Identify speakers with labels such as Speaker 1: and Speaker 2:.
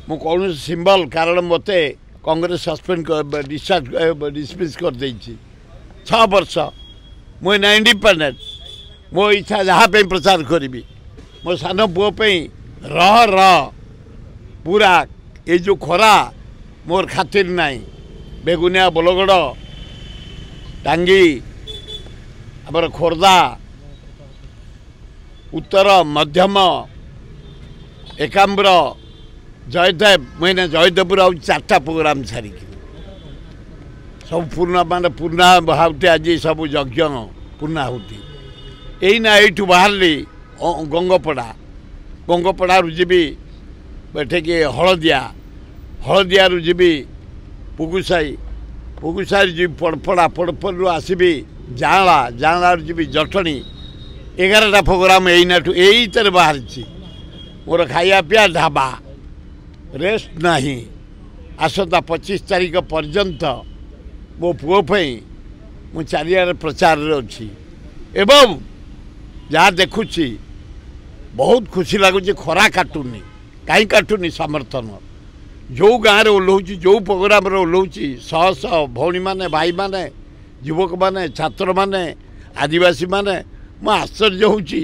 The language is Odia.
Speaker 1: ମୁଁ କୌଣସି ସିମ୍ବଲ, କାରଣ ମୋତେ କଂଗ୍ରେସ ସସ୍ପେଣ୍ଡ, ଡିସଚାର୍ଜ, ଡିସମିସ୍ କରିଦେଇଛି 6 ବର୍ଷ। ମୁଁ ଏଇନା ଇଣ୍ଡିପେଣ୍ଡେଣ୍ଟ, ମୋ ଇଚ୍ଛା ଯାହା ପାଇଁ ପ୍ରଚାର କରିବି। ମୋ ସାନ ପୁଅ ପାଇଁ ରହ ରହ ପୁରା ଏଇ ଯେଉଁ ଖରା ମୋର ଖାତିର ନାହିଁ। ବେଗୁନିଆ, ବୋଲଗଡ଼, ଟାଙ୍ଗି, ଆମର ଖୋର୍ଦ୍ଧା ଉତ୍ତର, ମଧ୍ୟମ, ଏକାମ୍ର, ଜୟଦେବ। ମୁଁ ଏଇନା ଜୟଦେବରୁ ଆଉ 4ଟା ପ୍ରୋଗ୍ରାମ୍ ସାରିକି ସବୁ ପୂର୍ଣ୍ଣ, ମାନେ ପୂର୍ଣ୍ଣା ଆହୁତି, ଆଜି ସବୁ ଯଜ୍ଞ ପୂର୍ଣ୍ଣାହୁତି। ଏଇନା ଏଇଠୁ ବାହାରିଲି ଗଙ୍ଗପଡ଼ା, ଗଙ୍ଗପଡ଼ାରୁ ଯିବି ଏଠିକି ହଳଦିଆ, ହଳଦିଆରୁ ଯିବି ପୁଗୁସାହି, ପୁଗୁସାହିରୁ ଯିବି ପଡ଼ପଡ଼ା, ପଡ଼ପଡ଼ରୁ ଆସିବି ଜାଁଳା, ଜାଁଳାରୁ ଯିବି ଜଟଣୀ। 11ଟା ପ୍ରୋଗ୍ରାମ୍ ଏଇନାଠୁ ଏଇଥିରେ ବାହାରିଛି। ମୋର ଖାଇବା ପିଇବା ଢାବା, ରେଷ୍ଟ ନାହିଁ। ଆସନ୍ତା 25 ତାରିଖ ପର୍ଯ୍ୟନ୍ତ ମୋ ପୁଅ ପାଇଁ ମୁଁ ଚାରିଆଡ଼େ ପ୍ରଚାରରେ ଅଛି ଏବଂ ଯାହା ଦେଖୁଛି ବହୁତ ଖୁସି ଲାଗୁଛି। ଖରା କାଟୁନି, କାହିଁ କାଟୁନି? ସମର୍ଥନ ଯେଉଁ ଗାଁରେ ଓହ୍ଲଉଛି, ଯେଉଁ ପ୍ରୋଗ୍ରାମରେ ଓହ୍ଲଉଛି, ଶହ ଶହ ଭଉଣୀମାନେ, ଭାଇମାନେ, ଯୁବକମାନେ, ଛାତ୍ରମାନେ, ଆଦିବାସୀମାନେ, ମୁଁ ଆଶ୍ଚର୍ଯ୍ୟ ହେଉଛି।